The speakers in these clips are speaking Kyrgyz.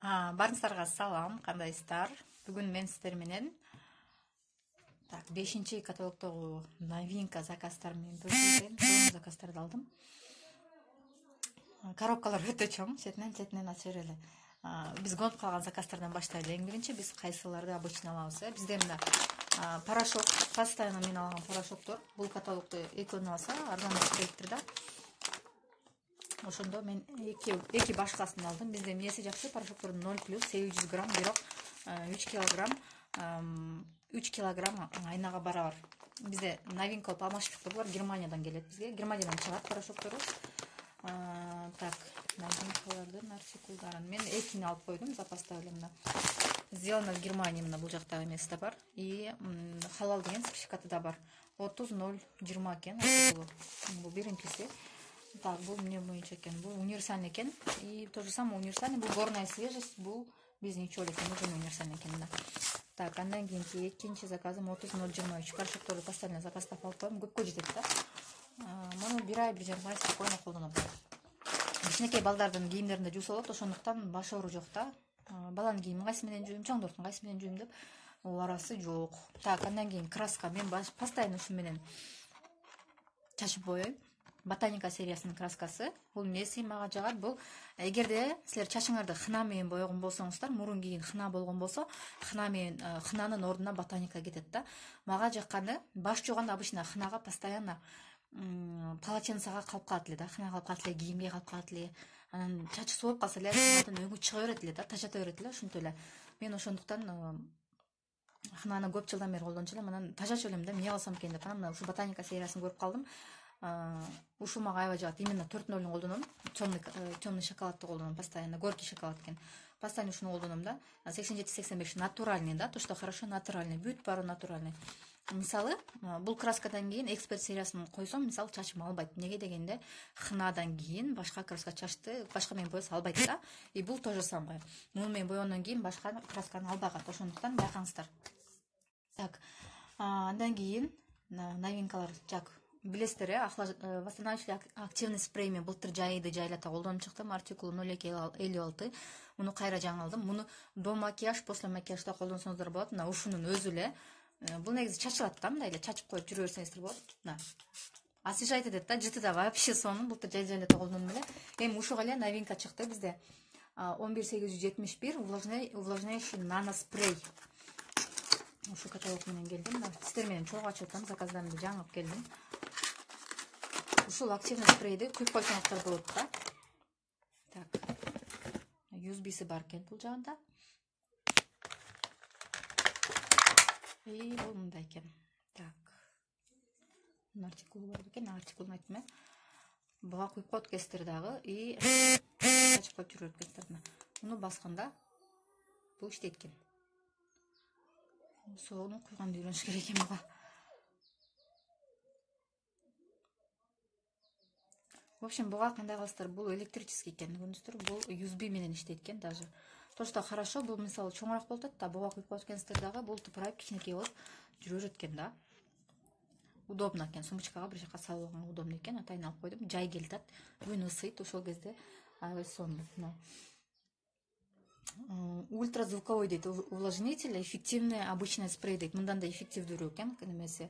Барыңыздарга салам, кандайсыздар? Бүгүн мен сиздер менен 5-чи каталогдогу новинка заказдар менен бөлүшөйүн. Чоң заказдарды алдым. Коробкалар өтө чоң, четинен ача берели. Биз конуп калган заказдардан баштайлы. Эң биринчи биз кайсыларды обычно алабыз? Бизде мына порошок, постоянно мен алган порошоктор. Бул каталогду экөөнү алса, арзаныраак келиптир да. Ошондо мен эки башкасын алдым. Бизде эмнеси жакшы? Порошоктордун 0+800 грамм, бирок 3 килограмм айнага барабар. Бизде новинка болуп алмаштыкта булар Германиядан келет бизге. Германиядан чыгат порошоктору. Новинкалардын артикулдарын мен экини алып койдум, запаста эле мына. Сделано в Германии, мына бул жакта эмеси да бар. И халал деген сертификаты да бар. 30.020 экен артикулу. Бул биринчиси. Бул эмне боюнча экен? Бул универсальный экен. И то же самое универсальный, бул горная свежесть, бул биздин чөл экен, уже универсальный экен мына. Андан кийинки экинчи заказым 30.023 порошокторду постоянно запастап алып коем, көпкө жетет да. Муну бир ай, 1,5 ай спокойно колдоно алат. Кичинекей балдардын кийимдеринде жууса болот, ошондуктан баш оору жок да. Баланын кийимин кайсы менен жууйм, чоңдордун кайсы менен жууйм деп арасы жок. Андан кийин краска, мен постоянно ушу менен чачып боёйм. Ботаника сериясынын краскасы. Бул эмнеси мага жагат? Бул эгерде силер чачыңарды хына менен боёгон болсоңуздар, мурун кийин хына болгон болсо, хынанын ордуна ботаника кетет да. Мага жакканы баш жууганда обычно хынага постоянно полотенцага калып калат эле да, хына калып калат эле, кийимге калып калат эле. Анан чачы сууп калса эле, хынадан өңү чыга берет эле да, тажата берет эле, ошентип эле. Мен ошондуктан хынаны көп жылдан бери колдончу элем, анан тажачу элем да, эмне кылсам экен деп. Анан ушу ботаника сериясын көрүп калдым. Ушул мага аябай жагат. Именно 4.0-ун колдоном. Темный шоколадты колдоном постоянно. Горький шоколад экен. Постоянно ушуну колдоном да. 87-85 натуральный да, то, что хорошо натуральный. Бүт баары натуральный. Мисалы, бул краскадан кийин эксперт сериясын койсом, мисалы чачым албайт. Неге дегенде, хынадан кийин башка краска чачты, башка менен боесо албайт да. И бул то же самое. Муну менен боегондон кийин башка красканы албагат. Ошондуктан байкаңыздар. Андан кийин новинкалар билесиздер, восстанавливающий активный спрей мен былтыр жайды жайлата колдонуп чыктым. Артикулу 0256. Муну кайра жаңы алдым. Муну до макияж, после макияжда колдонсоңуздар болот. Мына ушунун өзү эле. Бул негизи чачылат да, мындай эле чачып коюп жүрө берсеңиздер болот. Мына. Освежает этет да, жыты да вообще сонун. Былтыр жайлата колдондум эле. Эми ушуга эле новинка чыкты бизде. 11871 увлажняющий наноспрей. Ушу каталог менен келдим. Сиздер менен чогуу ачып атам, заказдарымды жаңып келдим. Ушул активный спрейди куюп койсоңуздар болот да. USB-си бар экен бул жагында. И бул мындай экен. Артикулу бар экен, артикулун айттым. Буга куюп коет экенсиздер дагы и чачып коюп жүрөт экенсиздер. Муну басканда бул иштейт экен. Соону куйганды үйрөнүш керек экен буга. В общем, буга кандай кыласыздар? Бул электрический экен, көрдүңүздөр? Бул USB менен иштейт экен даже. То, что хорошо, бул мисалы чоңураак болот да, буга куюп коет экенсиздер дагы, бул тыпырайып кичинекей болуп жүрө берет экен да. Удобно экен, сумочкага бир жака салып алганга удобно экен. Атайын алып койдум. Жай келатат, күн ысыйт, ошол кезде аябай сонун. Ультразвуковой дейт, увлажнитель, эффективный обычный спрей дейт. Мындан да эффективдүүрөөк экен, немеси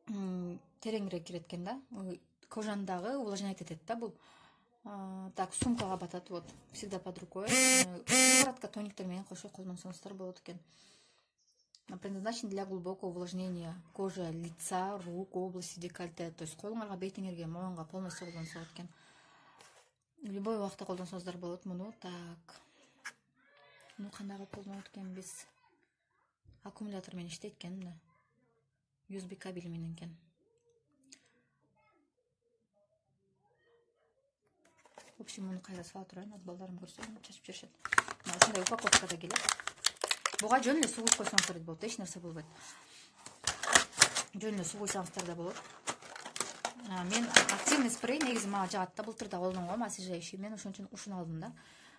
тереңирээк кирет экен да. Кожаны дагы увлажнять этет да бул. Сумкага батат, вот, всегда под рукой. Сыворотка, тониктер менен кошо колдонсоңуздар болот экен. Предназначен для глубокого увлажнения кожи, лица, рук, области декольте. То есть колуңарга, бетиңерге, моюнга полностью колдонсо болот экен. Любой убакта колдонсоңуздар болот муну. Муну кандай кылып колдонот экенбиз? Аккумулятор менен иштейт экен. USB кабели менен экен. В общем, муну кайра сала турайын, балдарым көрсө чачып жүрүшөт. Ушундай упаковкада келет. Буга жөн эле суу куюп койсоңуздар да болот, эч нерсе болбойт. Жөн эле суу куйсаңыздар да болот. Мен активный спрей негизи мага жагат да, былтыр да колдонгом, освежающий. Мен ошон үчүн ушуну алдым да.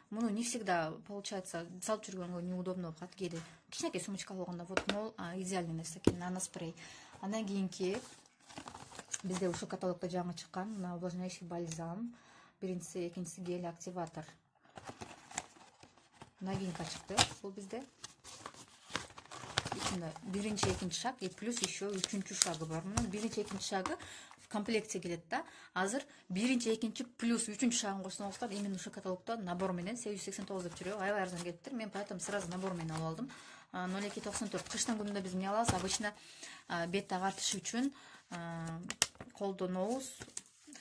Муну не всегда получается салып жүргөнгө неудобно болуп калат. Кээде кичинекей сумочка болгондо вот мол идеальный нерсе экен, наноспрей. Андан кийинки бизде ушул каталогдо жаңы чыккан увлажняющий бальзам. Биринчиси, экинчиси гель активатор. новинка чыкты бул бизде. Биринчи, экинчи шаг и плюс еще үчүнчү шагы бар. Мунун биринчи, экинчи шагы в комплекте келет да. Азыр биринчи, экинчи плюс үчүнчү шагын койсоңуздар, именно ушу каталогдо набор менен 889 деп жүрөбү. Аябай арзан келиптир. Мен поэтому сразу набор менен алып алдым. 0294. Кыштын күнүндө биз эмне алабыз? Обычно бет агартыш үчүн колдонобуз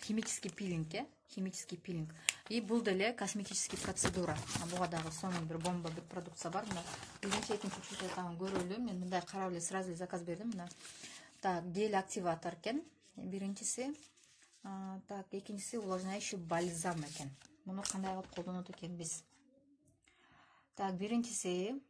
химический пилинг, химический пилинг. И бул деле косметический процедура. Буга дагы сонун бир бомба бир продукция бар. Мына биринчи, экинчи, үчүнчү этабын көрөлү. Мен мындай карап эле сразу заказ бердим. Мына так, гель активатор экен. Биринчиси, так, экинчиси увлажняющий бальзам экен. Муну кандай кылып колдонот экенбиз? Так, биринчиси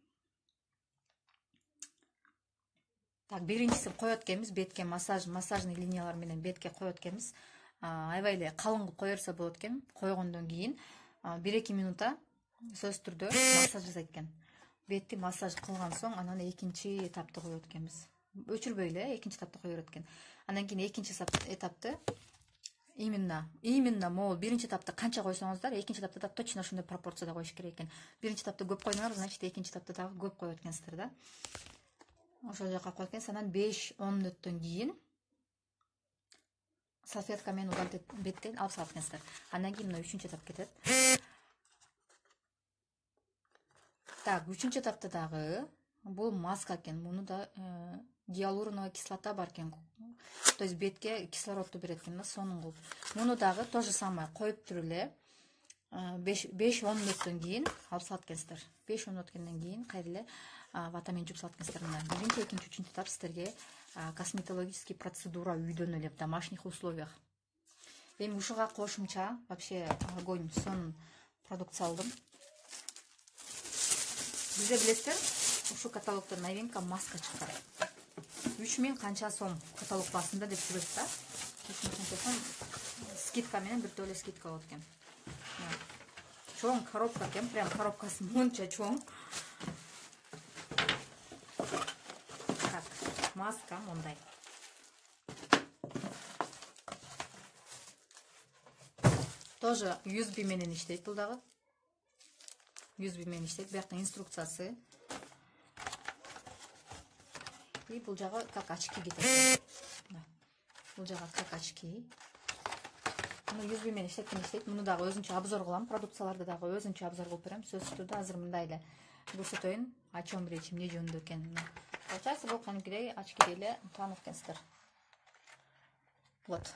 коет экенбиз бетке массажный линиялар менен бетке коет экенбиз. Аябай эле калың кылып кое берсе болот экен. Койгондон кийин 1-2 минута сөзсүз түрдө массаж жасайт экен. Бетти массаж кылган соң анан экинчи этапты коет экенбиз. Өчүрбөй эле экинчи этапты кое берет экен. Андан кийин экинчи этапты именно могул биринчи этапты канча койсоңуздар, экинчи этапты да точно ошондой пропорцияда коюш керек экен. Биринчи этапты көп койдуңар, значит экинчи этапты дагы көп коет экенсиздер да. Ошол жака коет экенсиз. Анан 5-10 мүнөттөн кийин салфетка менен удалить беттен алып салат экенсиздер. Андан кийин мына үчүнчү этап кетет. Так, үчүнчү этапта дагы бул маска экен. Муну да гиалуроновая кислота бар экен. То есть бетке кислородду берет экен да, сонун кылып. Муну дагы то же самое коюп туруп эле 5-10 мүнөттөн кийин алып салат экенсиздер. 5-10 мүнөт өткөндөн кийин кайра эле ватамен жууп салат экенсиздер. Мына биринчи, экинчи, үчүнчү этап сиздерге косметологический процедура үйдөн эле в домашних условиях. Эми ушуга кошумча вообще огонь, сонун продукция алдым. Бизде билесиздер, ушу каталогдо новинка маска чыккан. 3000 канча сом каталог басында деп жүрөт да. 3000 канча сом скидка менен бир төлө скидка болот экен. Чоң коробка экен, прям коробкасы монча чоң. Так, маска мондай. Тоже USB менен иштейт бул дагы. USB менен иштейт. Биякта инструкциясы. И бул жагы как очки кетет. Бул жагы как очки. Муну USB менен иштейт. Муну дагы өзүнчө обзор кылам. Продукцияларды дагы өзүнчө обзор кылып берем. Сөзсүз түрдө азыр мындай эле көрсөтөйүн. О чем речь, эмне жөнүндө экенин. Получается, бул кадимкидей очки эле таанып экенсиздер. Вот.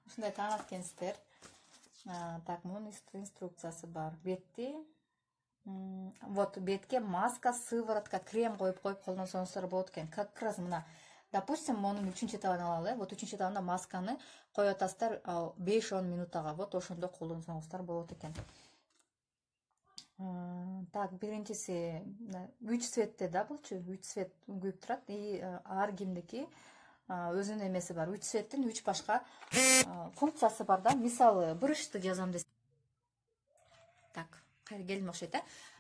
Ушундай таанып экенсиздер. Так, мунун инструкциясы бар. Бетти вот бетке маска, сыворотка, крем коюп колдонсоңуздар болот экен. Как раз мына, допустим, монун үчүнчү этабын алалы. Вот үчүнчү этабында масканы коюп атасыздар 5-10 минутага. Вот ошондо колдонсоңуздар болот экен. Так, биринчиси 3 цветте да булчу, 3 цвет күйүп турат. И ар кимдики өзүнүн эмеси бар. 3 цветтин 3 башка функциясы бар да. Мисалы, брышты жазам десем. Так, кайра келдим окшойт,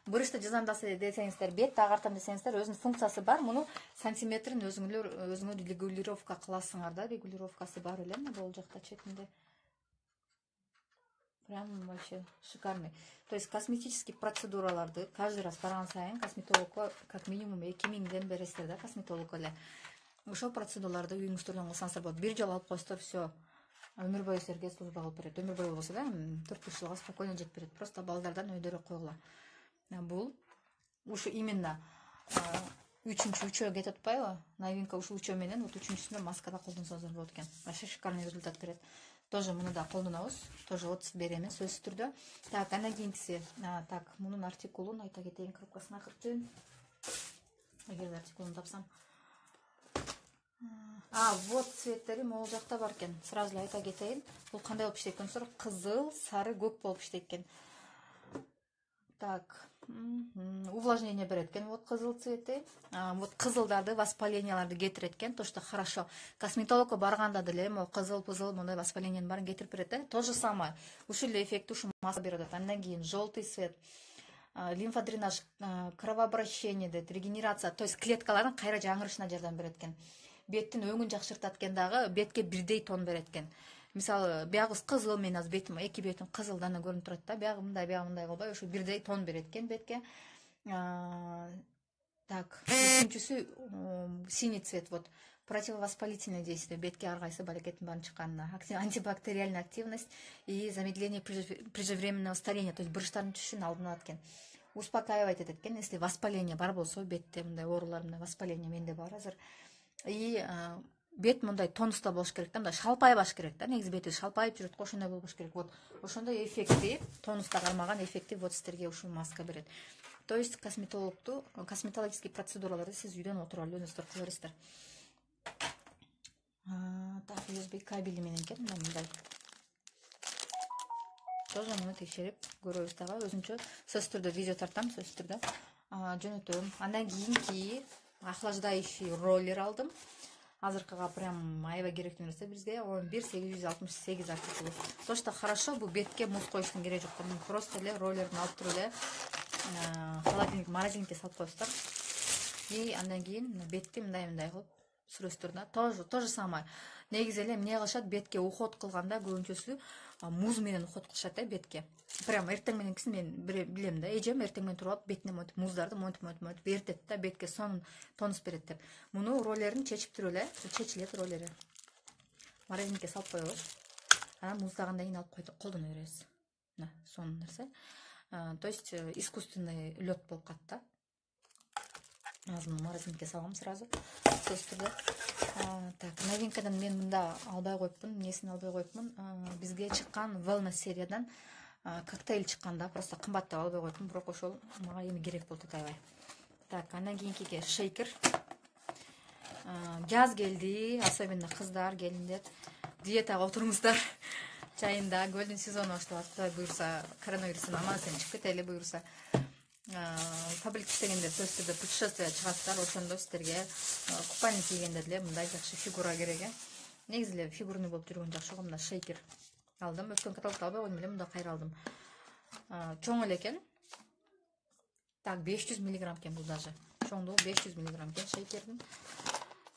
брышты жазам десеңиздер, бетти агартам десеңиздер, өзүнүн функциясы бар. Муну сантиметрин өзүңөр регулировка кыласыңар да. Регулировкасы бар эле бул жакта четинде. Прям вообще шикарный. То есть косметический процедураларды каждый раз барган сайын косметологко как минимум 2000ден бересиздер да, косметолог эле. Ошол процедураларды үйүңүздөрдөн кылсаңыздар болот. Бир жолу алып койсоңуздар, все. Өмүр бою силерге служба кылып берет. Өмүр бою болсо да 4-5 жылга спокойно жетип берет. Просто балдардан өйдөрөөк койгула. Бул ушу именно үчөө кетип атпайбы? Новинка ушул үчөө менен вот үчүнчүсүндө маскада колдонсоңуздар болот экен. Вообще шикарный результат берет. Тоже муну да колдонобуз. Тоже отзыв беремиз сөзсүз түрдө. Так, андан кийинкиси, так, мунун артикулун айта кетейин, коробкасын акыртын. Эгер артикулун тапсам. Вот цветтери могул жакта бар экен. Сразу эле айта кетейин. Бул кандай болуп иштейт экенсиздер? Кызыл, сары, көк болуп иштейт экен. Так, увлажнение берет экен. Вот кызыл цвети. Вот кызылдарды, воспаленияларды кетирет экен. То, что хорошо. Косметологко барганда деле могу кызыл-пызыл мындай воспалениянын баарын кетирип берет. То же самое. Ушул эле эффекти ушу маска берет. Андан кийин желтый цвет. Лимфодренаж, кровообращение дейт, регенерация. То есть клеткалардын кайра жаңырышына жардам берет экен. Беттин өңүн жакшыртат экен дагы, бетке бирдей тон берет экен. мисалы биягыбыз кызыл, мен азыр бетим, эки бетим кызыл дана көрүнүп турат да, биягы мындай кылбай ошо бирдей тон берет экен бетке. Так, үчүнчүсү синий цвет, вот противовоспалительное действие, бетке ар кайсы балекеттин баарын чыкканына, антибактериальная активность и замедление преждевременного старения, то есть буручтардын түшүшүнүн алдын алат экен, успокаивать этет экен. Если воспаление бар болсо, бетте мындай оорулар, мындай воспаление менде бар азыр, и бет мындай тонуста болуш керек да, мындай шалпайбаш керек да, негизи бети шалпайып жүрөт го, ошондой болбош керек. Вот ошондой эффектив, тонуста кармаган эффектив вот сиздерге ушул маска берет. То есть косметологический процедураларды сиз үйдөн отуруп алып өзүңүздөр кыла бересиздер. Так, USB кабели менен экен, мындай. Тоже муну текшерип көрөбүз дагы, өзүнчө сөзсүз түрдө видео тартам, сөзсүз түрдө жөнөтөм. Андан кийинки охлаждающий роллер алдым. Азыркыга прям аябай керектүү нерсе бизге 11868 артикулу. Точно хорошо, бул бетке муз коюштун кереги жок. Просто эле роллерин алып туруп эле холодильник, морозилникке салып коесуздар. И андан кийин бетти мындай кылып сүрөсүздөр да. То же самое. Негизи эле эмне кылышат, бетке уход кылганда көбүнчөсү муз менен уход кылышат бетке. Прям эртең мененкисин мен билем да, эжем эртең менен туруп алып бетине монтип муздарды монтип эртет да, бетке сонун тонус берет деп. Муну роллерин чечип туруп эле, чечилет роллери. Морозилникке салып коебуз. Анан муздагандан кийин алып колдоно беребиз. Мына сонун нерсе. То есть искусственный лед болуп калат да. Азыр морозилникке салгам сразу. Сөзсүз түрдө. Так, новинкадан мен мында албай коюпмун, эмнесин албай коюпмун. Бизге чыккан Wellness сериядан коктейль чыккан да, просто кымбат деп албай коюпмун, бирок ошол мага эми керек болду аябай. Так, андан кийинкиге шейкер. Жаз келди, особенно кыздар, келиндер, диетага отуруңуздар. Чайында көлдүн сезону башталат. Кудай буюрса, коронавирустан аман эсен чыгып кетели буюрса. Паблик иштегенде сөзсүз түрдө путешествие чыгасыздар, ошондо сиздерге купальник кийгенде деле мындай жакшы фигура керек. Негизи эле фигурный болуп жүргөн жакшы го. Мына шейкер алдым. Өткөн каталогдо албай койдум эле, мында кайра алдым. Чоң эле экен. Так, 500 мг экен бул даже. Чоңдугу 500 мг экен шейкердин.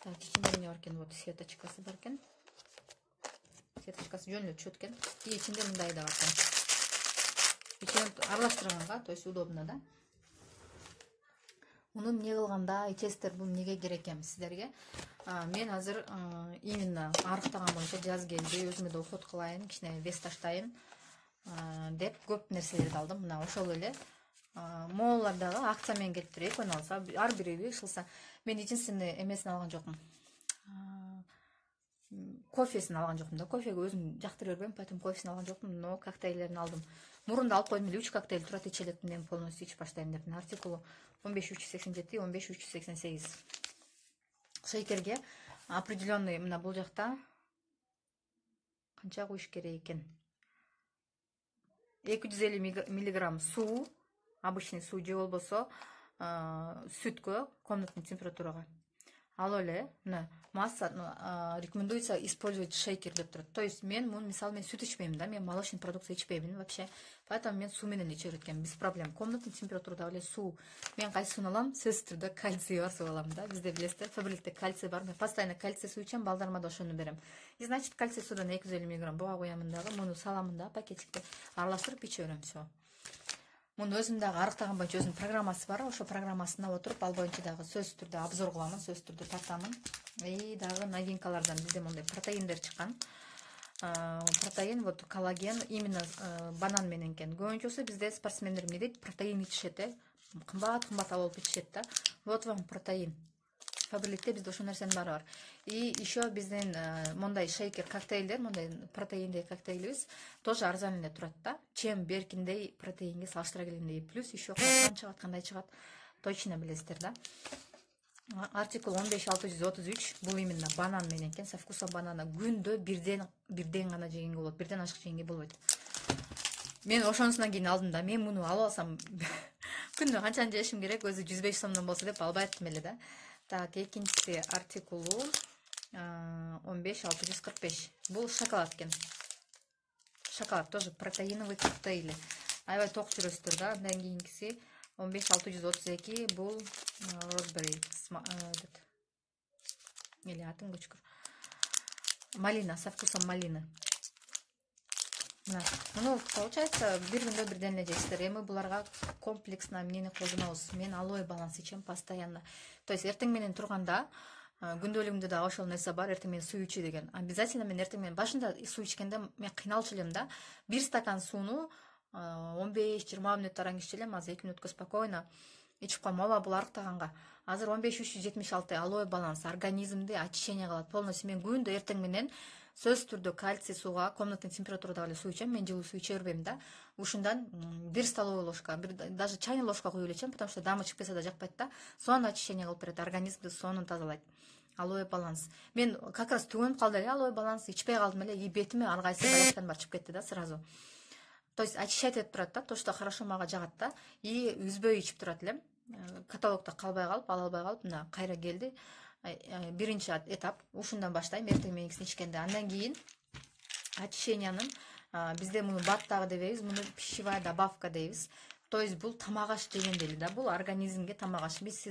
Так, ичинде эмне бар экен? Вот сеточкасы бар экен. Сеточкасы жөн эле түшөт экен. И ичинде мындай да бар экен. Ичинен аралаштырганга, то есть удобно да. Муну эмне кылганда ичесиздер, бул эмнеге керек экен сиздерге? Мен азыр именно арыктаган боюнча жаз келди, өзүмө да уход кылайын, кичине вес таштайын деп көп нерселерди алдым. Мына ошол эле моолар дагы акция менен келип туруп, экөөнү алса, ар бириби ышылса. Мен единственный эмесин алган жокмун. Кофесин алган жокмун да. Кофеге өзүм жактыра бербейм, поэтому кофесин алган жокмун, но коктейльдерин алдым. Мурунда алып койдум эле 3 коктейль турат, иче элек мен полностью ичип баштайм деп. Артикулу 15387, 15388. Шейкерге определенный мына бул жакта канча куюш керек экен? 250 мг суу, обычный суу же болбосо сүткө, комнатный температурага. Ал эле мына масса рекомендуется использовать шейкер деп турат. То есть мен муну мисалы мен сүт ичпейм да, мен молочный продукция ичпеймин вообще. Поэтому мен суу менен иче берет экенмин, без проблем. Комнатный температурада эле суу. Мен кайсы сууну алам? Сөзсүз түрдө кальций бар суу алам да. Бизде билесиздер, Фабрикте кальций бар. Мен постоянно кальций суу ичем, балдарыма да ошону берем. И значит, кальций суудан 250 мг буга коямын дагы, муну саламын да пакетикте, аралаштырып иче берем, всё. Муну өзүм дагы арыктаган боюнча өзүнүн программасы бар. Ошо программасына отуруп, ал боюнча дагы сөзсүз түрдө обзор кыламын, сөзсүз түрдө тартамын. И дагы новинкалардан бизде мондай протеиндер чыккан. Протеин, вот коллаген, именно банан менен экен. Көбүнчөсү бизде спортсмендер эмне дейт? Протеин ичишет, кымбат алып ичишет да. Вот вам протеин. Фабрикте бизде ошол нерсенин баары бар. И еще биздин мондай шейкер коктейлдер, мондай протеиндей коктейлибиз тоже арзан эле турат да. Чем беркиндей протеинге салыштыра келгенде плюс еще кандай чыгат, кандай чыгат точно билесиздер да. Артикул 15633, бул именно банан менен экен, со вкусом банана. Күндө бирден гана жегенге болот, бирден ашык жегенге болбойт. Мен ошонусунан кийин алдым да. Мен муну алып алсам күндө канчаны жешим керек, өзү 105 сомдон болсо деп албай аттым эле да. Так, экинчиси артикулу 15645. Бул шоколад экен. Шоколад тоже протеиновый коктейли. Аябай ток жүрөсүздөр да. Андан кийинкиси 15632, бул розбери, или атын көчкүр. Малина, со вкусом малины. Мына муну получается бир күндө бирден эле жейсиздер. Эми буларга комплексно эмнени колдонобуз? Мен алоэ баланс ичем постоянно. То есть эртең менен турганда күндөлүгүмдө да ошол нерсе бар, эртең менен суу ичүү деген. Обязательно мен эртең менен башында суу ичкенде мен кыйналчу элем да. Бир стакан сууну 15-20 мүнөт аран иччү элем, азыр 2 мүнөткө спокойно ичип коем. Ооба, бул арыктаганга. Азыр 15-376 алоэ баланс организмди очищение кылат полностью. Мен күндө эртең менен сөзсүз түрдө кальций сууга, комнатный температурада эле суу ичем. Мен жылуу суу иче бербейм да. Ушундан 1 столовый ложка, даже чайный ложка куюп эле ичем, потому что дамы чыгып кетсе да жакпайт да. Сонун очищение кылып берет, организмди сонун тазалайт. Алоэ баланс. Мен как раз түгөнүп калды эле алоэ баланс ичпей калдым эле, и бетиме ар кайсы болочкан бар чыгып кетти да сразу. То есть очищать этип турат да, то, что хорошо мага жагат да, и үзбөй ичип турат элем. Каталогдо калбай калып, ала албай калып, мына кайра келди. Биринчи этап ушундан баштайм, эртең мененкисин ичкенде. Андан кийин очищениянын бизде муну бат дагы дебейбиз, муну пищевая добавка дейбиз. То есть бул тамак аш дегендей эле да, бул организмге тамак аш. Биз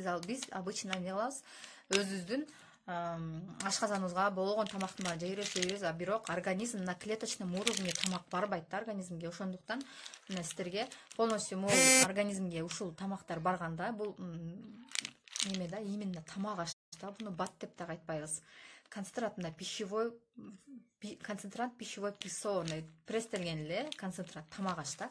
обычно эмне кылабыз? Өзүбүздүн ашказаныбызга болгон тамактын баарын жейбиз, а бирок организм на клеточном уровне тамак барбайт да организмге. Ошондуктан мына сиздерге полностью могу организмге ушул тамактар барганда, бул неме да, именно тамак аш да, буну бат деп дагы айтпайбыз. Концентрат пищевой прессованный, пресстелген эле концентрат тамак аш да.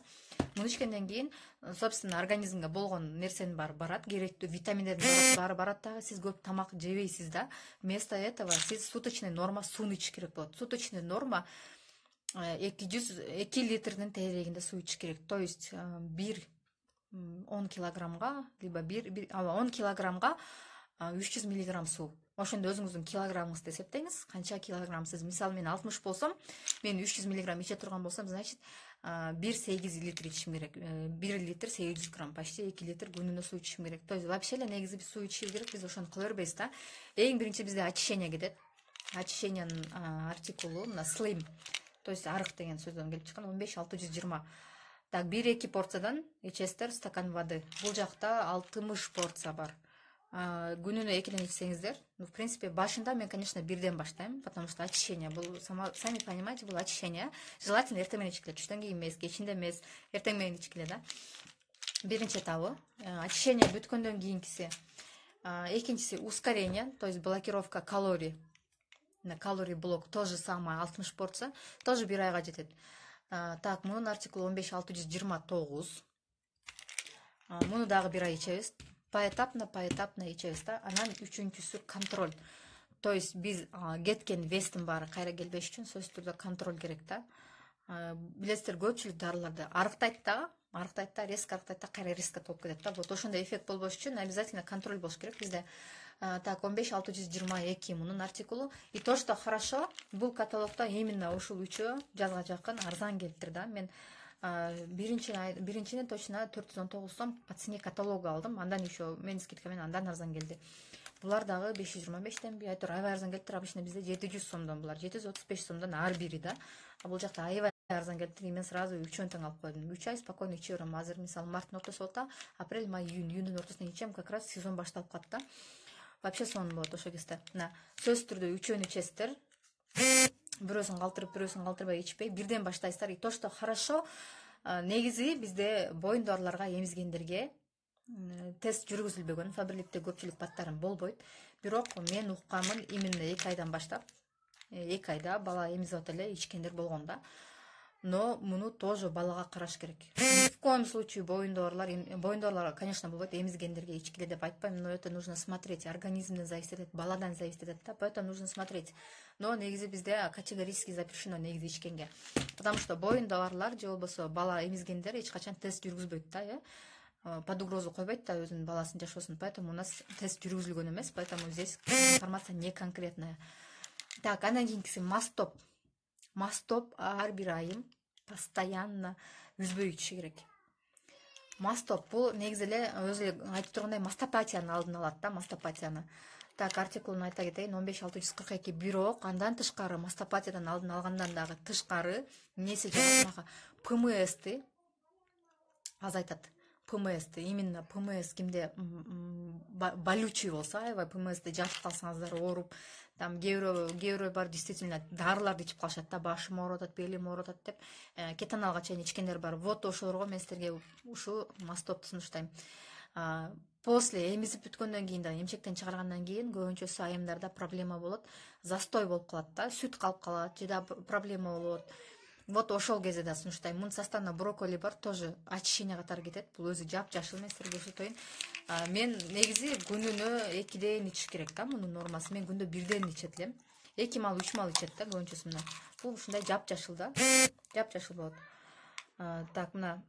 Муну ичкенден кийин, собственно, организмге болгон нерсенин баары барат, керектүү витаминдердин баары барат дагы. Сиз көп тамак жебейсиз да. Вместо этого сиз суточный норма сууну ичиш керек болот. Суточный норма 2 литрдин тегерегинде суу ичиш керек. То есть 10 килограммга, либо 10 килограммга 300 миллиграмм суу. Ошондо өзүңүздүн килограммыңызды эсептеңиз. Канча килограмм сиз? Мисалы мен 60 болсом, мен 300 миллиграмм иче турган болсом, значит 1,8 литр ичишим керек. 1 литр 800 грамм, почти 2 литр күнүнө суу ичишим керек. То есть вообще эле негизи биз суу ичишибиз керек, биз ошону кыла бербейбиз да. Эң биринчи бизде очищение кетет. Очищениянын артикулу мына slim. То есть арык деген сөздөн келип чыккан 15-620. Так, 1-2 порциядан ичесиздер стакан воды. Бул жакта 60 порция бар. Күнүнө 2ден ичсеңиздер, в принципе, башында мен, конечно, 1ден баштайм, потому что очищение, бул сами понимаете, бул очищение. Желательно эртең менен ичкиле, түштөн кийин эмес, кечинде эмес, эртең менен ичкиле да. Биринчи этабы очищение бүткөндөн кийинкиси. Экинчиси ускорение, то есть блокировка калорий. На калорий блок то же самое, 60 порция, тоже 1 айга жетет. Так, мунун артикулу 15-629. Муну дагы 1 ай ичебиз. Поэтапно ичебиз да. Анан үчүнчүсү контроль. То есть биз кеткен вестин баары кайра келбеш үчүн сөзсүз түрдө контроль керек да. Билесиздер, көпчүлүк дарыларды арыктайт да, резко арыктайт да, кайра резко толуп кетет да. Вот ошондой эффект болбош үчүн обязательно контроль болуш керек бизде. Так, 15-622 мунун артикулу. И то, что хорошо, бул каталогдо именно ушул үчөө жазга жакын арзан келиптир да. Мен биринчини точно 419 сом по цене каталога алдым. Андан еще мен скидка менен андан арзан келди. Булар дагы 525денби, айтор аябай арзан келиптир. Обычно бизде 700 сомдон булар, 735 сомдон ар бири да. А бул жакта аябай арзан келиптир. Мен сразу 3 тең алып койдум. 3 ай спокойно иче берем. Азыр мисалы марттын ортосу болот да, апрель, май, июндун ортосуна ичем, как раз сезон башталып калат да. Вообще сонун болот ошо кезде. Мына сөзсүз түрдө 3өн ичесиздер. Бирөөсүн калтырбай ичпей, бирден баштайсыздар. И то, что хорошо, негизи бизде боюн дарыларга эмизгендерге тест жүргүзүлбөгөн, Фаберликте көпчүлүк баттарын болбойт. Бирок мен уккамын, именно 2 айдан баштап, 2 айда бала эмизип атат эле, ичкендер болгон да. Но муну тоже балага караш керек. Ни в коем случае боюн дарылар, конечно, болбойт, эмизгендерге ичкиле деп айтпайм, но это нужно смотреть. Организмден зависит этет, баладан зависит этет да, поэтому нужно смотреть. Но негизи бизде категорически запрещено негизи ичкенге. Потому что боюн дарылар же болбосо бала эмизгендер эч качан тест жүргүзбөйт да, под угрозу койбойт да өзүнүн баласын жашоосун. Поэтому у нас тест жүргүзүлгөн эмес, поэтому здесь информация не конкретная. Так, андан кийинкиси мастоп. Мастоп ар бир айым постоянно үзбөй ичиш керек. Мастоп бул негизи эле өзү эле айтып тургандай мастопатиянын алдын алат да, мастопатияны. Так, артикулун айта кетейин, 15-642. Бирок андан тышкары, мастопатиядан алдын алгандан дагы тышкары эмнеси жагат, ПМСти азайтат. ПМС именно ПМС кимде болючий болсо, аябай ПМСти жатып калсаңыздар ооруп, там кээ бирөө бар действительно дарыларды ичип калышат да, башым ооруп атат, белим ооруп атат деп кетаналга чейин ичкендер бар. Вот ошолорго мен силерге ушул мастопду сунуштайм. После эмизип бүткөндөн кийин да, эмчектен чыгаргандан кийин көбүнчөсү айымдарда проблема болот, застой болуп калат да, сүт калып калат же да проблема болот. Вот ошол кезде да сунуштайм. Мунун составына брокколи бар, тоже очищение катары кетет. Бул өзү жапжашыл, мен силерге ошотойн. Мен негизи күнүнө 2ден ичиш керек да, мунун нормасы. Мен күндө 1ден ичет элем. 2 мал 3 мал ичет да көбүнчөсү мына. Бул ушундай жапжашыл да. Жапжашыл болот. Так, мына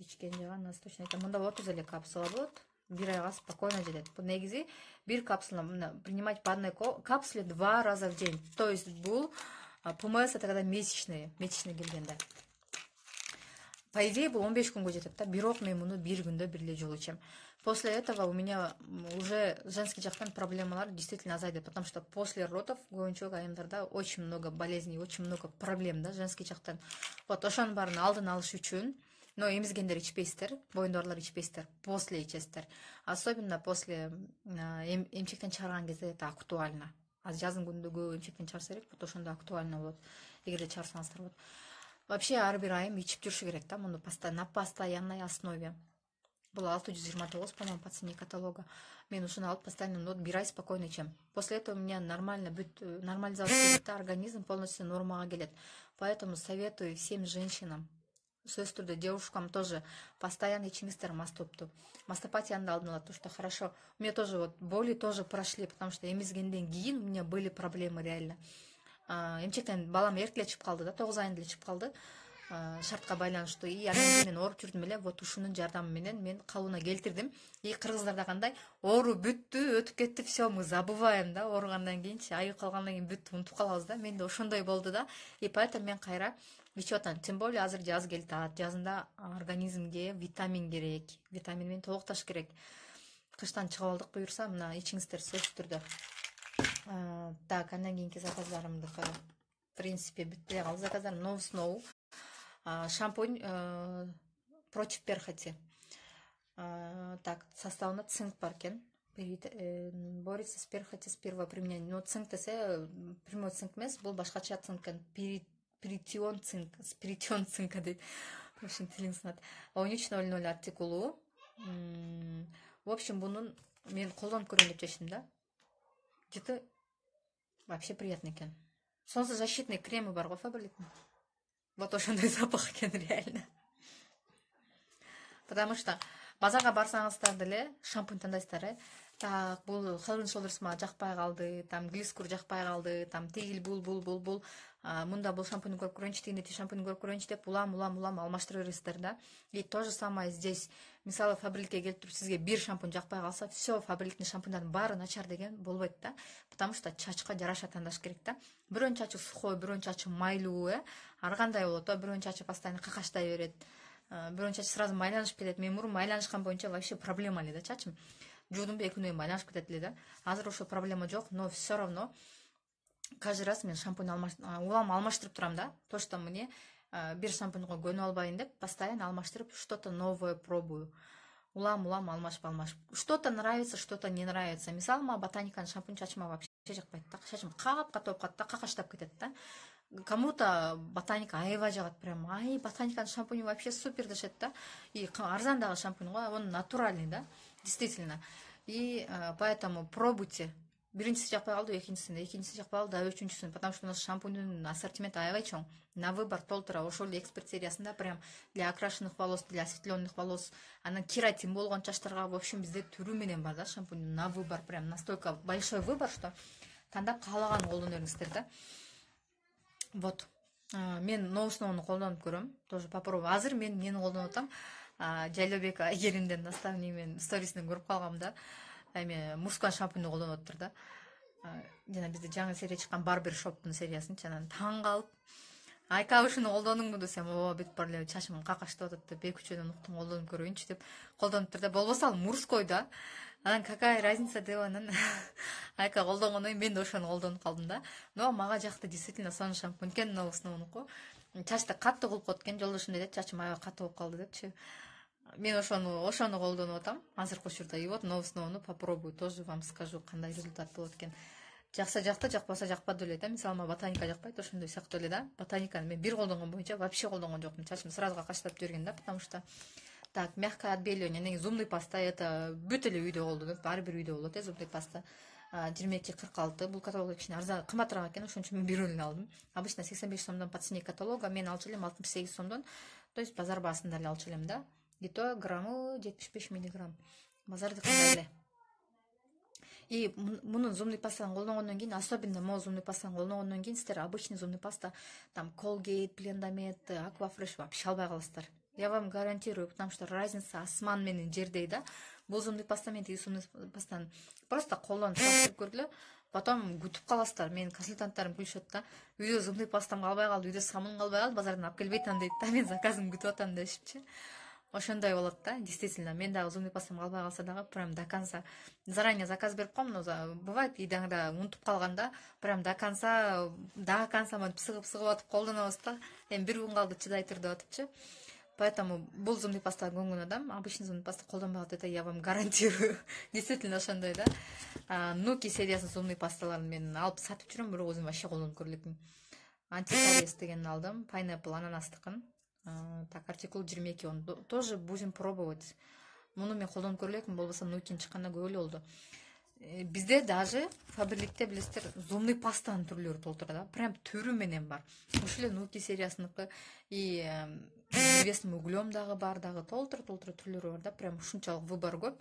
ичкен жаган аз точно айтам. Мында 30 эле капсула болот. 1 айга спокойно жетет. Бул негизи 1 капсула принимать по одной капсуле 2 раза в день. То есть бул ПМС это когда месячные келгенде. По идее бул 15 күнгө жетет да, бирок мен муну 1 күндө 1 эле жолу ичем. После этого у меня уже женский жактан проблемалар действительно азайды, потому что после родов көбүнчө айымдарда очень много болезней, очень много проблем да женский жактан. Вот ошонун баарын алдын алыш үчүн, но эмизгендер ичпейсиздер, боюндагылар ичпейсиздер, после ичесиздер. Особенно после эмчектен чыгарган кезде это актуально. Жаздын күнүндө көп эмчектен чыгарса керек, вот ошондо актуально болот. Эгерде чыгарсаңыздар болот. Вообще ар бир айым ичип жүрүшү керек да, муну на постоянной основе. Бул 629, по-моему, по цене каталога. Мен ушуну алып постоянно 1 ай спокойно ичем. После этого у меня нормализация идет, организм полностью нормага келет. Поэтому советую всем женщинам, сөзсүз түрдө девушкам тоже постоянно ичиңиздер мастопту. Мастопатияны да алдын алат, то что хорошо. У меня тоже вот боли тоже прошли, потому что эмизгенден кийин у меня были проблемы реально. Эмчектен балам эркеле чыгып калды да, 9 айында эле чыгып калды. Шартка байланыштуу. И анан кийин мен ооруп жүрдүм эле, вот ушунун жардамы менен мен калыбына келтирдим. И кыргыздарда кандай оору бүттү, өтүп кетти, все, мы забываем да, ооругандан кийинчи, айыгып калгандан кийин бүттү, унутуп калабыз да. Менде ошондой болду да. И поэтому мен кайра ичип атам. Тем более азыр жаз келатат. Жазында организмге витамин керек. Витамин менен толукташ керек. Кыштан чыгып алдык буюрса, мына ичиңиздер сөзсүз түрдө. Так, андан кийинки заказдарымдыкы в принципе бүт эле калды. Заказдарым Новый Snow. Шампунь против перхоти. Так, составында цинк бар экен. Борется с перхотью с первого применения. Но цинк десе прямой цинк эмес, бул башкача цинк экен. Спиритион цинка дейт. В общем, тилиң сынат. 1300 артикулу. В общем, бунун мен колдонуп көрөм деп чечтим да. Где-то вообще приятный экен. Солнцезащитный кремы бар го Фаберликтин. Вот ошондой запах экен реально. Потому что базарга барсаңыздар деле шампунь тандайсыздар, так, бул Head & Shoulders мага жакпай калды, там глискур жакпай калды, там тигил бул. Мында бул шампуньду көрүп көрөйүнчү, тигинде шампуньду көрүп көрөйүнчү деп улам алмаштыра бересиздер да. И то же самое здесь. Мисалы Фаберликке келип туруп сизге бир шампунь жакпай калса, все, Фаберликтин шампуньдардын баары начар деген болбойт да. Потому что чачка жараша тандаш керек да. Бирөөнүн чачы сухой, бирөөнүн чачы майлуу, ар кандай болот, бирөөнүн чачы постоянно какаштай берет. Бирөөнүн чачы сразу майланышып кетет. Мен мурун майланышкан боюнча вообще проблема эле да чачым. Жуудумду 2 күндөй майланышып кетет эле да. Азыр ошо проблема жок, но все равно каждый раз мен шампунь улам алмаштырып турам да. То, что мне бир шампуньга көнүп албайын деп, постоянно алмаштырып, что-то новое пробую. Улам алмашып. Что-то нравится, что-то не нравится. Мисалы, мага ботаниканын шампунь чачыма вообще жакпайт да. Чачым кат-кат болуп калат да, какаштап кетет да. Кому-то ботаника аябай жагат, прям, ботаниканын шампуньи вообще супер дешет да. И арзан дагы шампунь го, он натуральный да, действительно. И поэтому пробуйте. Биринчиси жакпай калды, экинчиси жакпай калды, үчүнчүсүн, потому что у нас шампуньдун ассортименти аябай чоң. На выбор толтура. Ошол эле эксперт сериясында прям для окрашенных волос, для осветленных волос, анан кератин болгон чачтарга, в общем, бизде түрү менен бар да шампунь на выбор, прям настолько большой выбор, что тандап каалаган колдоно бериңиздер да. Вот. Мен Новый Snow'ну колдонуп көрөм. Тоже попробуй. Азыр мен нени колдонуп атам? Жайлообек Айгеримдин наставний мен сторисинен көрүп калгам да. Эми мужской шампуньду колдонуп атыптыр да. Жана бизде жаңы серия чыккан Barber Shop'тун сериясынчы, анан таң калып, Айка ушуну колдондуңбу десем, бүт бар эле чачым какаштап атат деп, 2-3 уктум, колдонуп көрөйүнчү деп колдонуптур да. Болбосо ал мужской да. Анан какая разница деп анан Айка колдонгондон кийин мен да ошону колдонуп калдым да. Но мага жакты, действительно сонун шампунь экен, Новый Snow'нуку. чачты катты кулкут экен. Жолдошум дейт, чачым аябай катуу болуп калды депчи. Мен ошону колдонуп атам азыркы учурда. И вот новосновну попробую, тоже вам скажу кандай результат болот экен. Жакса жакты, жакпаса жакпады эле да. Мисалы мага ботаника жакпайт, ошондой сыяктуу эле да. Ботаниканы мен бир колдонгон боюнча вообще колдонгон жокмун. Чачым сразу какачтап жиберген да, потому что так, мягкое отбеливание, анан зубный паста, это бүт эле үйдө колдонот, ар бир үйдө болот зубный паста. 22-46, бул каталог кичине арзан, кымбатыраак экен, ошон үчүн мен бирөөлүн алдым. Обычно 85 сомдон по цене каталога, мен алчу элем 68 сомдон, то есть базар баасында эле алчу элем да. И то граммы 75 миллиграмм. Базарды кандай эле. И мунун зубный пастаны колдонгондон кийин, особенно могу зубный пастаны колдонгондон кийин сиздер обычный зубный паста, там Colgate, Blendamед, Aquafresh вообще албай каласыздар. Я вам гарантирую, потому что разница асман менен жердей да. Бул зубный паста менен тиги зубный пастаны просто колдонуп салыштырып көргүлө. Потом күтүп каласыздар. Менин консультанттарым күлүшөт да. Үйдө зубный пастам калбай калды, үйдө самуным калбай калды, базардан алып келбей атам дейт да. Мен заказымды күтүп атам дешипчи. Ошондой болот да, действительно. Мен дагы зубный пастам калбай калса дагы прям до конца заранее заказ берип коем, но бывает идаңда унутуп калганда прям до конца монтип сыгып атып колдонобуз да. Эми бир күн калды чыдай тур деп атыпчы. Поэтому бул зубный пастага көңүл адам, обычный зубный паста колдонбай калат, это я вам гарантирую. Действительно ошондой да. Нуки сериясынын зубный пасталарын мен алып сатып жүрөм, бирок өзүм вообще колдонуп көрө элекмин. Антикариес дегенин алдым, Pineapple ананастыкын. Так, артикул 22, он тоже будем пробовать. Муну мен колдонуп көрө элекмин, болбосо Нукин чыкканда көп эле болду. Бизде даже фабрикте билесиздер, зубный пастанын түрлөрү толтура да. Прям түрү менен бар. Ошол эле Нуки сериясыныкы и древесным углем дагы бар, дагы толтура түрлөрү бар да. Прям ушунчалык выбор көп.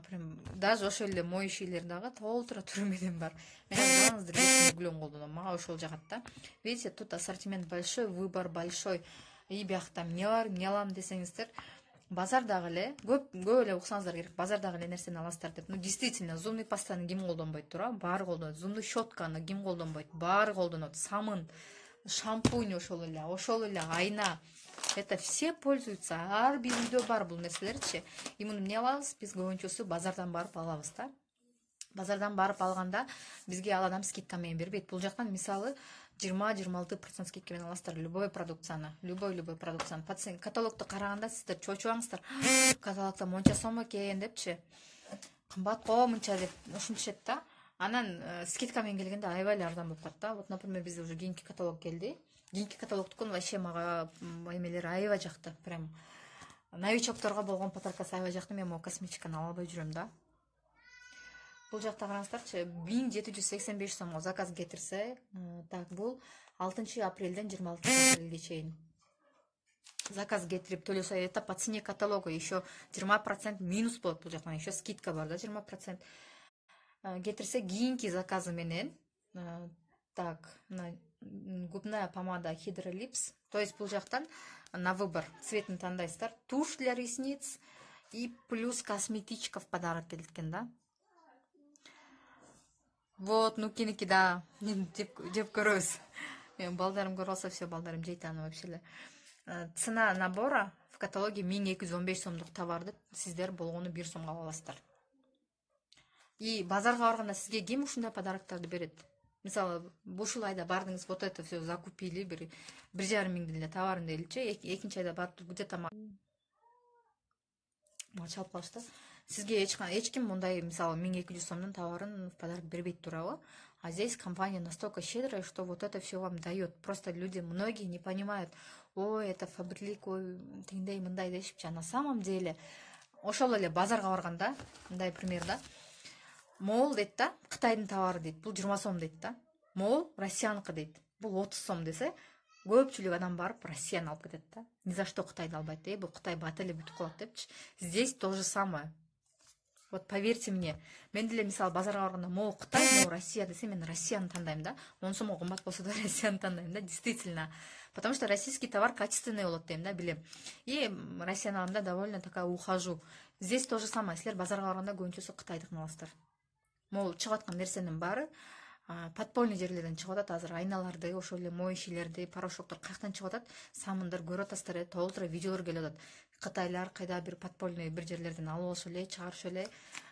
Прям даже ошол эле моющийлер дагы толтура түрү менен бар. Мен жалгыз древесным углем колдоном, мага ошол жагат да. Видите, тут ассортимент большой, выбор большой. И биякта эмне бар, эмне алам десеңиздер, базардагы эле көп эле уксаңыздар керек, базардагы эле нерсени аласыздар деп. Ну действительно, зубный пастаны ким колдонбойт тура? Баары колдонот. Зубный щетканы ким колдонбойт? Баары колдонот. Самын, шампунь ошол эле айна. Это все пользуются, ар бир үйдө бар бул нерселерчи. И муну эмне алабыз? Биз көбүнчөсү базардан барып алабыз да. Базардан барып алганда бизге ал адам скидка менен бербейт. Бул жактан мисалы 20-26% скидка менен аласыздар любой продукцияны. Любой продукцияны. Каталогду караганда сиздер чочуңуздар. Каталогда монча сом экен депчи. Кымбат го мынча деп ушинтишет да. Анан скидка менен келгенде аябай эле арзан болуп калат да. Вот, например, бизде уже кийинки каталог келди. Кийинки каталогдукун вообще мага эмелери аябай жакты. Прям новичокторго болгон подаркасы аябай жакты. Мен могу косметиканы ала албай жүрөм да. Бул жакта караңыздарчы, 1785 сомго заказ кетирсе, так, бул 6 апрелден 26 апрелге чейин заказ кетирип төлөсө, это по цене каталога, еще 20% минус болот бул жактан, еще скидка бар да, 20%. Кетирсе кийинки заказы менен, так, губная помада Hydrolips, то есть бул жактан на выбор цветин тандайсыздар, тушь для ресниц и плюс косметичка в подарок келет экен да. Вот, Нукиники, да, жеп көрөбүз. Мен балдарым көрүп алса, все, балдарым жейт аны вообще эле. Цена набора в каталоге 1215 сомдук товарды сиздер болгону 1 сомго ала аласыздар. И базарга барганда сизге ким ушундай подароктарды берет? Мисалы, ушул айда бардыңыз, вот это все закупили, 1,5 миңдин эле товарын дейличи, экинчи айда барып где-то мага чалып калышты. Сизге эч ким мындай, мисалы, 1200 сомдун товарын в подарок бербейт турабы? А здесь компания настолько щедрая, что вот это все вам дает. Просто люди, многие не понимают, ой, это фабрик, ой, тиндей, мындай дешипчи. А на самом деле, ошол эле базарга барганда, мындай пример да, мол дейт да, Кытайдын товары дейт, бул 20 сом дейт да. Мол Россияныкы дейт, бул 30 сом десе, көпчүлүк адам барып Россияны алып кетет да. Ни за что Кытайды албайт, бул Кытай бат эле бүтүп калат депчи. Здесь то же самое. Вот поверьте мне, мен деле мисалы базарга барганда могу Кытай, могу Россия десе, мен Россияны тандайм да. 10 сомго кымбат болсо да Россияны тандайм да, действительно. Потому что российский товар качественный болот дейм да, билем. И Россияны алам да, довольно такая ухожу. Здесь то же самое. Силер базарга барганда көбүнчөсү Кытайдыкын аласыздар. Могу чыгып аткан нерсенин баары подпольный жерлерден чыгып атат. Азыр айналарды, ошол эле моющийлерди, порошоктор каяктан чыгып атат? Самындар көрүп атасыздар, толтура видеолор келип атат. Кытайлар кайда бир подпольный бир жерлерден алып алышы эле, чыгарышы эле,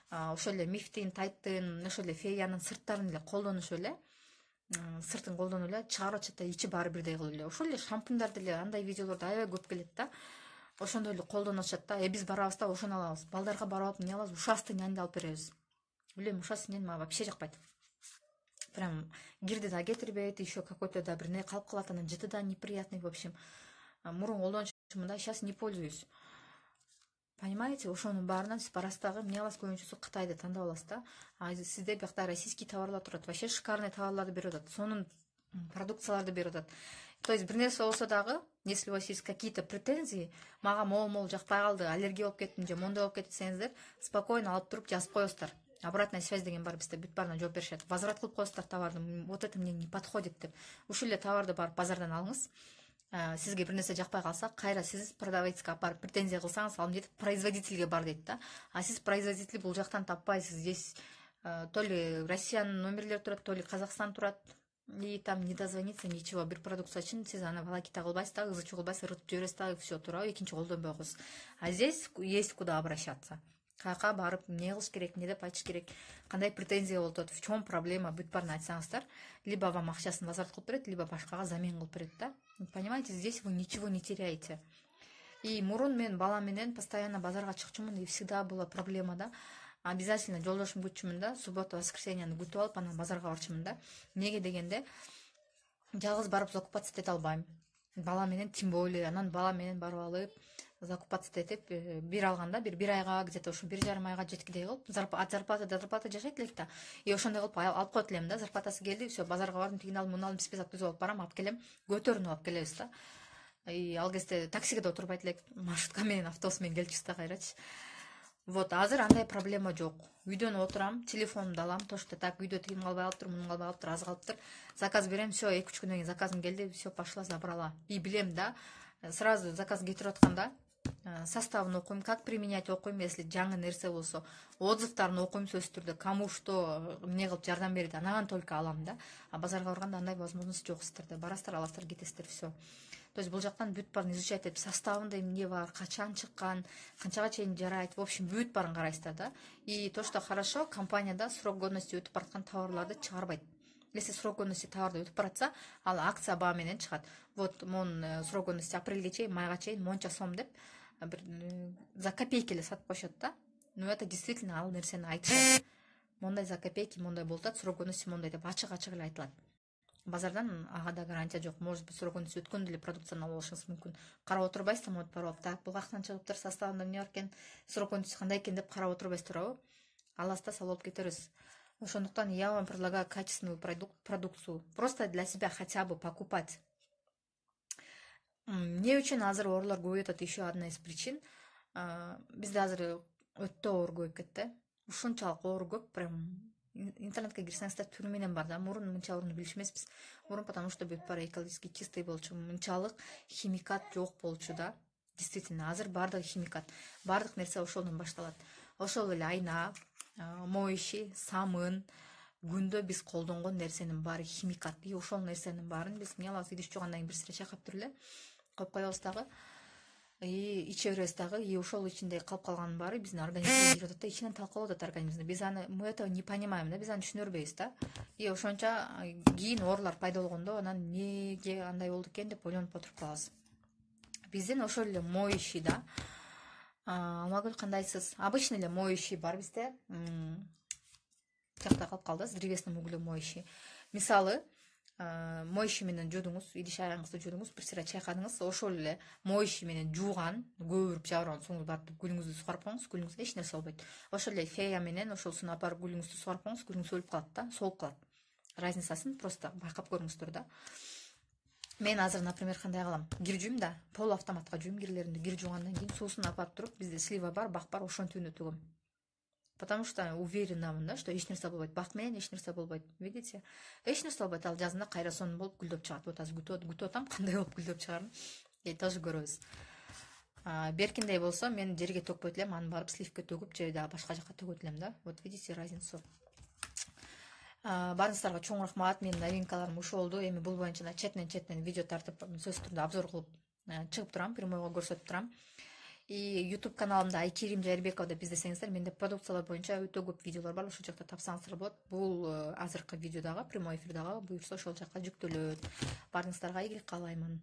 ошол эле мифтин, тайттын, ошол эле феянын сырттарын эле колдонушу эле. сыртын колдонуп эле чыгарып атышат да ичи баары бирдей кылып эле. Ошол эле шампундар деле андай видеолордо аябай көп келет да. Ошондой эле колдонуп атышат да. Биз барабыз да ошону алабыз. Балдарга барып алып эмне алабыз? Ушастый нянды алып беребиз. Билем, ушастый нян мага вообще жакпайт. Прям кирди да кетирбейт, еще какой-то да бир не калып калат, анан жыты да неприятный, в общем. Мурун колдончумун да, сейчас не пользуюсь. Понимаете, ошонун баарынан сиз барасыз дагы эмне аласыз, көбүнчөсү Кытайды тандап аласыз да. Сизде биякта российский товарлар турат, вообще шикарный товарларды берип атат. Сонун продукцияларды берип атат. То есть бир нерсе болсо дагы, если у вас есть какие-то претензии, мага могул жакпай калды, аллергия болуп кеттим же мондой болуп кетти десеңиздер, спокойно алып туруп жазып коесуздар. Обратная связь деген бар бизде, бүт баарына жооп беришет. Возврат кылып коесуздар товарды, вот это мне не подходит деп. Ушул эле товарды барып базардан алыңыз. Сизге бир нерсе жакпай калса, кайра сиз продавецке алып барып претензия кылсаңыз, ал эмне дейт? Производительге бар дейт да. А сиз производитель бул жактан таппайсыз. Здесь то ли Россиянын номерлери турат, то ли Казакстан турат. И там не дозвониться, ничего. Бир продукция үчүн сиз аны волокита кылбайсыз да, ызы чугулбайсыз, ырытып жибересиз да, все, туурабы, экинчи колдонбой коесуз. А здесь есть куда обращаться. Каяка барып эмне кылыш керек, эмне деп айтыш керек, кандай претензия болуп атат, в чем проблема, бүт баарын айтсаңыздар, либо вам акчасын возврат кылып берет, либо башкага замен кылып берет да. Понимаете, здесь вы ничего не теряете. И мурун мен балам менен постоянно базарга чыкчумун, и всегда была проблема да. Обязательно жолдошум күтчүмүн да, суббота, воскресеньяны күтүп алып, анан базарга барчумун да. Неге дегенде, жалгыз барып закупаться эте албайм. Бала менен тем более, анан бала менен барып алып, закупаться этип, бир алганда, бир айга, где-то ушу 1,5 айга жеткидей кылып, зарплата жашайт элек да. И ошондой кылып алып коет элем да, зарплатасы келди, все, базарга бардым, тигини алдым, муну алдым, список түзүп алып барам, алып келем, көтөрүнүп алып келебиз да. И ал кезде таксиге да отурбайт элек, маршрутка менен, автобус менен келчүбүз да кайрачы. Вот, азыр андай проблема жок. Үйдөн отурам, телефонумду алам, то что так үйдө тигин калбай калыптыр, мунун калбай калыптыр, аз калыптыр. Заказ берем, все, 2-3 күндөн кийин заказым келди, все, пошла, забрала. И билем да, сразу заказ кетирип атканда составын окуйм, как применять окуйм, если жаңы нерсе болсо, отзывдарын окуйм сөзсүз түрдө, кому что эмне кылып жардам берди, анан только алам да. А базарга барганда андай возможность жок сиздерде. Барасыздар, аласыздар, кетесиздер, все. То есть бул жактан бүт баарын изучать этип, составында эмне бар, качан чыккан, канчага чейин жарайт, в общем, бүт баарын карайсыздар да. И то, что хорошо, компанияда срок годности өтүп бараткан товарларды чыгарбайт. Если срок годности товарды өтүп баратса, ал акция баа менен чыгат. Вот монун срок годности апрелге чейин, майга чейин монча сом деп за копейки эле сатып коюшат да. Но это действительно ал нерсени айтышат. Мондай за копейки, мондай болуп атат, срок годности мондай деп ачык эле айтылат. Базардан ага да гарантия жок. Может быть, срок годности өткөн деле продукцияны алып алышыңыз мүмкүн. Карап отурбайсыз, вот барып, так, бул каяктан чыгыптыр, составында эмне бар экен, срок годности кандай экен деп карап отурбайсыз, туурабы? Аласыз да салып алып кетерсиз. Ошондуктан я вам предлагаю качественную продукцию. Просто для себя хотя бы покупать. Эмне үчүн азыр оорулар көбөйүп атат? Еще одна из причин. Бизде азыр өтө оор көбөйүп кетти. Ушунчалык оору көп, прям интернетке кирсеңиздер түрү менен бар да. Мурун мынча ооруну билиш эмеспиз. Мурун потому что бүт баары экологически чистый болчу, мынчалык химикат жок болчу да. Действительно, азыр баардыгы химикат. Баардык нерсе ошолдон башталат. Ошол эле айна, моющий, самын, күндө биз колдонгон нерсенин баары химикат. И ошол нерсенин баарын биз эмне алабыз? Идиш жуугандан кийин бир сыра чайкап туруп эле коюп коебуз дагы. И иче беребиз дагы. И ошол ичинде калып калганын баары биздин организмге кирип атат да, ичинен талкалап атат организмди. Биз аны, мы этого не понимаем да, биз аны түшүнөрбөйбүз да. И ошонча кийин оорулар пайда болгондо анан эмнеге андай болду экен деп ойлонуп отуруп калабыз. Биздин ошол эле моющий да. Алмагүл, кандайсыз? Обычный эле моющий бар бизде. Жакта калып калды, с древесным углем моющий. Мисалы, моющий менен жуудуңуз, идиш аягыңызды жуудуңуз, бир сыра чайкадыңыз, ошол эле моющий менен жууган, көбүрүп жабырган соң барып гүлүңүздү сугарып коюңуз, гүлүңүзгө эч нерсе болбойт. Ошол эле фея менен ошолсун алып барып гүлүңүздү сугарып коюңуз, гүлүңүз өлүп калат да, солуп калат. Разницасын просто байкап көрүңүздөр да. Мен азыр, например, кандай кылам? Кир жуйм да, пол автоматка жуйм кирлеримди. Кир жуугандан кийин суусун алып туруп, бизде слива бар, бак бар, ошонун түбүнө төгөм. Потому что уверенамын да, что эч нерсе болбойт. Бак менен эч нерсе болбойт. Видите? Эч нерсе болбойт. Ал жазында кайра сонун болуп гүлдөп чыгат. Вот азыр күтүп атам, кандай болуп гүлдөп чыгарын. Тоже көрөбүз. Беркиндей болсо, мен жерге төкпөйт элем, аны барып сливке төгүп, же да башка жака төгөт элем да. Вот видите разницу. Барыңыздарга чоң рахмат. Менин новинкаларым ушул болду. Эми бул боюнча четинен видео тартып, сөзсүз түрдө обзор кылып чыгып турам, прямойго көрсөтүп турам. И YouTube каналымда Айкерим Жайырбекова деп издесеңиздер, менде продукциялар боюнча өтө көп видеолор бар, ошол жакта тапсаңыздар болот. Бул азыркы видеодагы, прямой эфирдагы буюрса ошол жакка жүктөлөт. Баарыңыздарга ийгилик каалаймын.